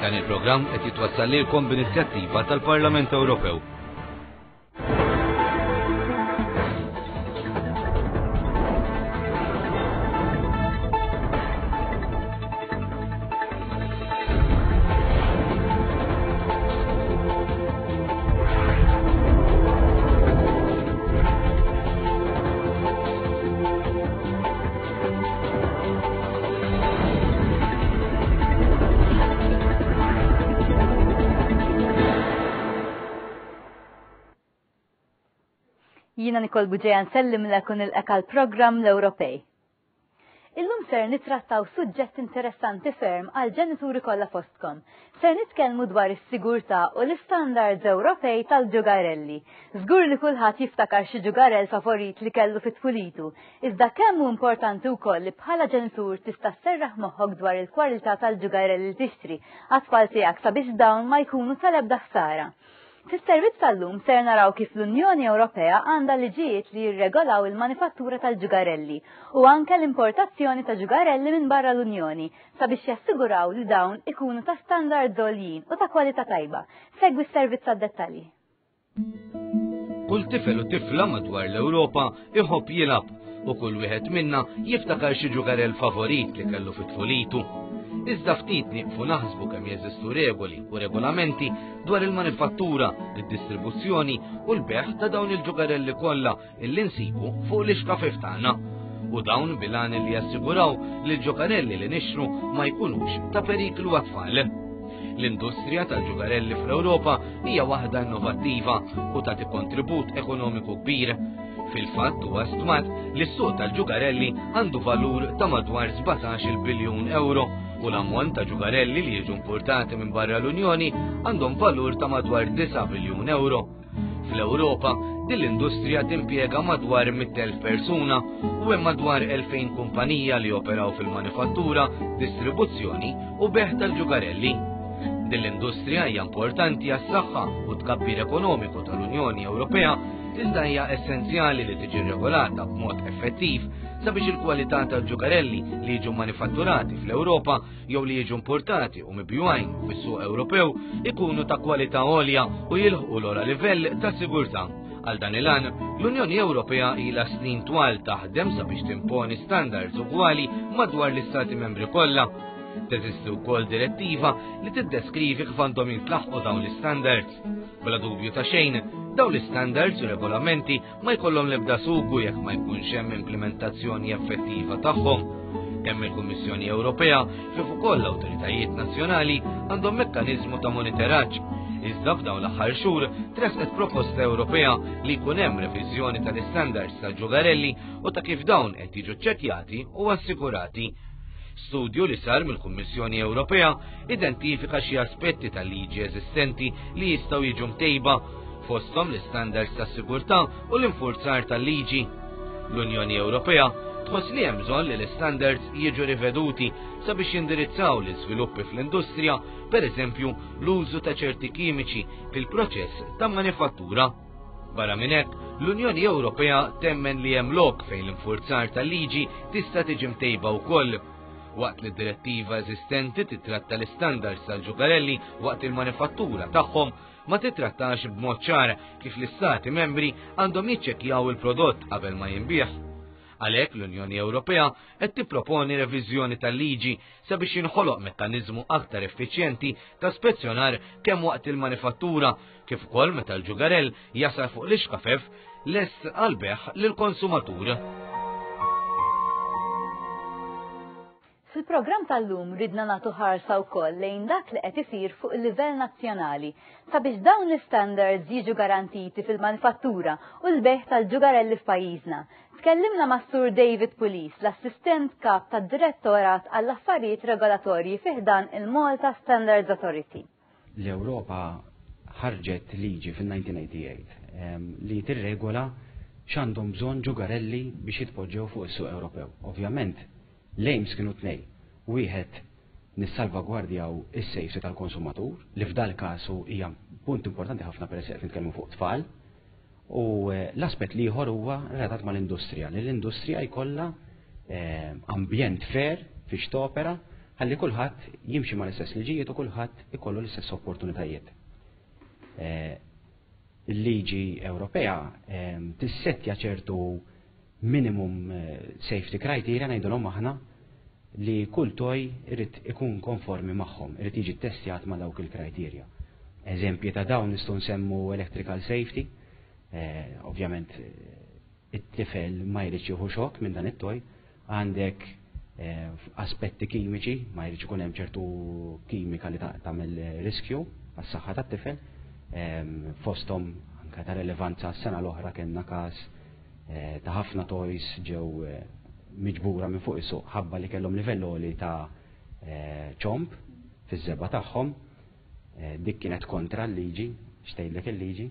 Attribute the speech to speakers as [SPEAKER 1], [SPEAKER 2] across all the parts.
[SPEAKER 1] Dan il-programm qed jitwassal lilkom b'inizjattiva tal-Parlament Ewropew.
[SPEAKER 2] Jina Nikol Buġeja nsellim l-ekun il-ekal program l-Ewropej. Illum ser nitrattaw suġġett interessanti ferm għal ġenituri kollha fostkom. Ser nitkellmu dwar is-sigurtà u l-istandards Ewropej tal-ġugarelli. Żgur li kulħadd jiftakar xi ġugarell favorit li kellu fit-tfulitu, iżda kemm hu importanti wkoll li bħala ġenitur tista' sserraħ moħħok dwar il-kwalità tal-ġugarelli li tixtri għat-tfal tiegħek sabiex dawn ma jkunu tal-ebda ħsara. Fis-servizz tal-lum ser naraw kif l-Unjoni Ewropea għandha liġijiet li jirregolaw il-manifattura tal-ġugarelli u anke l-importazzjoni ta' ġugarelli minn barra l-Unjoni sabiex jassiguraw li dawn ikunu ta' standards għoljin u ta' kwalità tajba. Segwi s-servizz għad-dettalji.
[SPEAKER 1] Kull tifel u tifla madwar l-Ewropa iħobb jilgħab u kull wieħed minna jiftakar xi ġugarell favorit li kellu fi tfulitu. Iżda ftit nieqfu naħsbu kemm jeżistu regoli u regolamenti dwar il-manifattura, id-distribuzzjoni u l-beħ ta' dawn il-ġugarelli kollha illi nsibu fuq l-ixkafif tagħna. U dawn bilan li jassiguraw li l-ġugarelli li nixtru ma jkunux ta' periklu għat-tfal. L-industrija tal-ġugarelli fl-Ewropa hija waħda innovattiva u tagħti kontribut ekonomiku kbir. Fil-fatt huwa stmat li s-suq tal-ġugarelli għandu valur ta' madwar 17 biljun euro u l-ammont ta' ġugarelli li jiġu importati minn barra l-Unjoni għandhom valur ta' madwar 9 biljun euro. Fl-Ewropa, din l-industrija timpjega madwar 100,000 persuna u hemm madwar 2,000 kumpanija li operaw fil-manifattura, distribuzzjoni u beħ tal-ġugarelli. Din l-industrija hija importanti għas-saħħa u tkabbir ekonomiku tal-Unjoni Ewropea iżda hija essenzjali li tiġi regolata b'mod effettiv sabiex il-kwalità tal-ġugarelli li jiġu manifatturati fl-Ewropa jew li jiġu importati u mibjugħin fis-suq Ewropew ikunu ta' kwalità għolja u jilħqu l-ogħla livell ta' sigurtà. Għal dan il-għan, l-Unjoni Ewropea ilha snin twal taħdem sabiex timponi standards ugwali madwar l-Istati membri kollha. Teżisti wkoll direttiva li tiddeskrivi kif għandhom jintlaħqu dawn l-istandards. Bla dubju ta' xejn, dawn l-istandards u regolamenti ma jkollhom l-ebda sugu jekk ma jkunx hemm implementazzjoni effettiva tagħhom. Kemm il-Kummissjoni Ewropea kif ukoll l-awtoritajiet nazzjonali għandhom mekkaniżmu ta' monitoraġġ. Iżda f'dawn l-aħħar xhur tresqet proposta Ewropea li jkun hemm reviżjoni tal-istandards tal-ġugarelli u ta' kif dawn qed jiġu ċċekkjati u assigurati. Studju li sar mill-Kummissjoni Ewropea identifika xi aspetti tal-liġi eżistenti li jistgħu jiġu mtejba fosthom l-istandards ta' sigurtà u l-infurzar tal-liġi. L-Unjoni Ewropea tħoss li hemm bżonn li l-istandards jiġu riveduti sabiex jindirizzaw l-iżviluppi fl-industrija, pereżempju l-użu ta' ċerti kimiċi fil-proċess ta' manifattura. Barra minn hekk, l-Unjoni Ewropea temmen li hemm lok fejn l-infurzar tal-liġi tista' tiġi mtejba wkoll. Waqt li d-direttiva eżistenti titratta l-istandards tal-ġugarelli waqt il-manifattura tagħhom, ma titrattax b'mod ċar kif l-istati membri għandhom jiċċekkjaw il-prodott qabel ma jinbiegħ. Għalhekk l-Unjoni Ewropea qed tipproponi reviżjoni tal-liġi sabiex jinħoloq mekkaniżmu aktar effiċjenti ta' spezzjonar kemm waqt il-manifattura kif ukoll meta l-ġugarell jasal fuq l-ixkafef lest għal-beħ lill-konsumatur.
[SPEAKER 2] Fil-programm tal-lum ridna nagħtu ħarsa wkoll lejn dak li qed isir fuq il-livell nazzjonali sabiex dawn l-istandards jiġu garantiti fil-manifattura u l-bejħ tal-ġugarelli f'pajjiżna. Tkellimna ma' Sur David Pulis, l-assistent kap tad-Direttorat għall-Affarijiet Regolatorji fi ħdan il-Malta Standards Authority.
[SPEAKER 3] L-Ewropa ħarġet liġi fil-1988 li tirregola x'għandhom bżonn ġugarelli biex jitpoġġew fuq is-suq Ewropew. Ovvjament, l-aims kienu tnej. Wieħed nissalvagwardjaw is-safety tal-konsumatur, li f'dal każ hija punt importanti ħafna peress qed nitkellmu fuq tfal, u eh, l-aspett li ieħor huwa relatat mal-industrija, li l-industrija jkollha eh, ambjent fair fiex topera. Ħalli kulħadd jimxi mal-istess liġijiet u kulħadd ikollu l-istess opportunitajiet. Eh, il-liġi Ewropea ehm, tissettja ċertu minimum eh, safety criteria ngħidulhom aħna li kull toj irid ikun konformi magħhom, irid jiġi ttestjat ma' dawk il-criteria. Eżempji ta' dawn nistgħu nsemmu electrical safety, eh, ovvjament it-tifel ma jridx jieħu xokk minn dan it-toj, għandek eh, aspetti kimiċi, ma jridx ikun hemm ċertu kimika li tagħmel riskju għas-saħħa tat-tifel, ehm, fosthom anke ta' relevanza s-sena l-oħra kellna każ eh, ta' ħafna toys ġew eh, miġbura minn fuq is-suq ħabba li kellhom livell għoli ta' ċomp fiż-żebgħa tagħhom. Dik kienet kontra l-liġi, xtgħidlek il-liġi.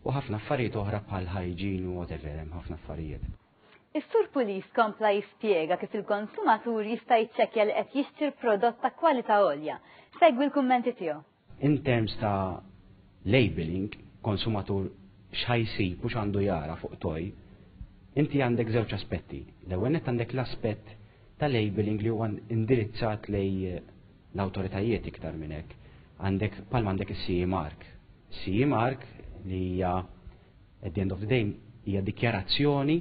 [SPEAKER 3] U ħafna affarijiet oħra bħal hygiene u whatever, hemm ħafna affarijiet.
[SPEAKER 2] Is-Sur Pulis kompla jispjega kif il-konsumatur jista' jiċċekkja li qed jixtri prodott ta' kwalità għolja. Segwi l-kummenti tiegħu.
[SPEAKER 3] In terms ta' labeling, konsumatur x'ħa jsib u x'għandu jara fuq toj, inti għandek żewġ aspetti. L-ewwel nett għandek l-aspett ta' labeling li huwa indirizzat lej l-awtoritajiet iktar minn hekk. Għandek palma għandek is-CE mark. CE mark li hija at the end of the day hija dikjarazzjoni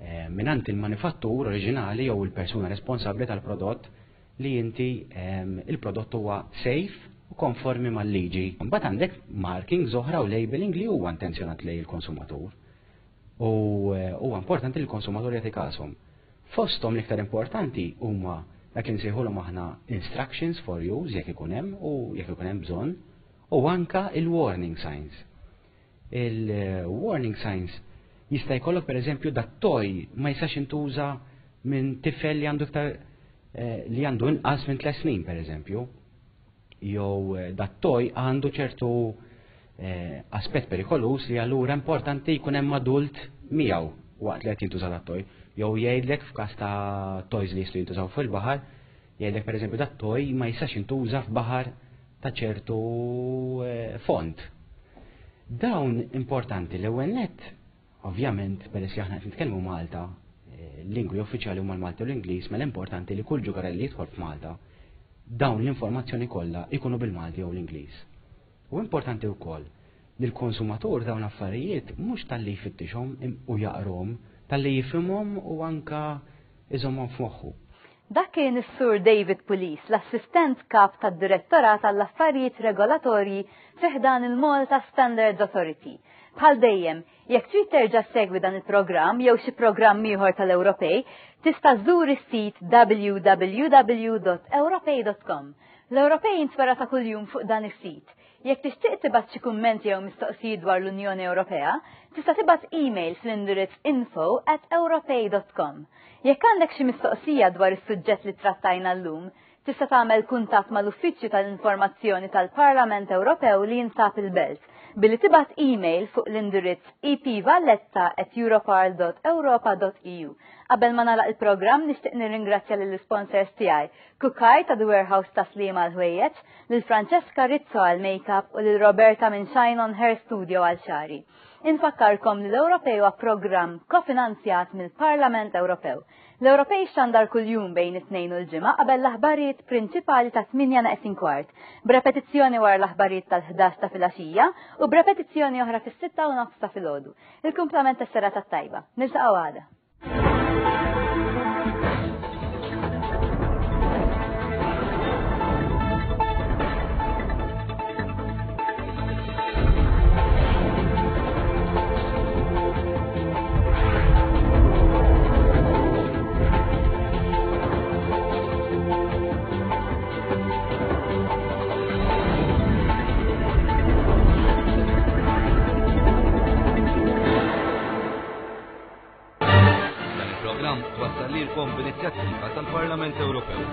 [SPEAKER 3] eh, minant il-manifattur oriġinali jew il-persuna responsabbli tal-prodott li inti ehm, il-prodott huwa safe u konformi mal-liġi. Mbagħad għandek marking oħra u labeling li huwa intenzjonat lej il-konsumatur. U eh, huwa importanti li l-konsumatur jagħti kashom. Fosthom l-iktar importanti huma dak li nsejħulhom aħna instructions for use jekk ikun hemm u jekk ikun hemm bżonn u anka il-warning signs. Il-warning signs jista' jkollok pereżempju dat-toj ma jistax intuża minn tifel li għandu iktar eh, li għandu inqas minn tliet snin pereżempju. Jew eh, dat-toj għandu ċertu eh, aspett perikolus li allura importanti jkun hemm adult miegħu waqt li qed jintuża dat-toj. Jew jgħidlek f'każ ta' toys li jistgħu jintużaw fil-baħar, jgħidlek pereżempju dat-toj ma jistax jintuża f'baħar ta' ċertu eh, fond. Dawn importanti l-ewwel nett, ovvjament, peress li aħna qed nitkellmu Malta, eh, lingwi uffiċjali huma l-Malti u l-Ingliż, mela importanti li kull ġugarell li jidħol f'Malta dawn l-informazzjoni kollha ikunu bil-Malti jew l-Ingliż. U importanti wkoll li l-konsumatur dawn l-affarijiet mhux talli jfittixhom u jaqrhom, talli jifhimhom u anka iżommhom f'moħħu.
[SPEAKER 2] Dak kien is-Sur David Pulis, l-Assistent Kap tad-Direttorat għall-Affarijiet Regolatorji fi ħdan il-Malta Standards Authority. Bħal dejjem, jekk trid terġa' ssegwi dan il-programm jew xi programm ieħor tal-Ewropej, tista' żżur is-sit www.ewropej.com. L-Ewropej jintwera ta' kuljum fuq dan is-sit. Jekk tixtieq tibgħat xi kummenti jew mistoqsijiet dwar l-Unjoni Ewropea, tista' tibgħat email fl-indirizz info@ewropej.com. Jekk għandek xi mistoqsija dwar is-suġġett li trattajna llum, tista' tagħmel kuntatt mal-Uffiċċju tal-Informazzjoni tal-Parlament Ewropew li jinsab il-Belt billi tibgħat email fuq l-indirizz epvalletta@europarl.europa.eu. Qabel ma nagħlaq il-programm nixtieq nirringrazzja lill-isponsors tiegħi, Kukaj ta' The Warehouse ta' Sliema għall-ħwejjeġ, lil Francesca Rizzo għall-makeup u lil Roberta minn Shine on Hair Studio għal xagħri. Infakkarkom li l-Ewropej huwa programm kofinanzjat mill-Parlament Ewropew. L-Ewropej xandar kuljum bejn it-Tnejn u l-Ġimgħa qabel l-aħbarijiet prinċipali ta' 8 neqsin kwart, b'repetizzjoni wara l-aħbarijiet tal-11 ta' filgħaxija u b'repetizzjoni oħra fis-6 u nofs ta' filgħodu. Il-kumplament tas-serata t-tajba. Niltaqgħu għada.
[SPEAKER 1] Dan il-programm twassal lilkom b'inizjattiva tal-Parlament Ewropew.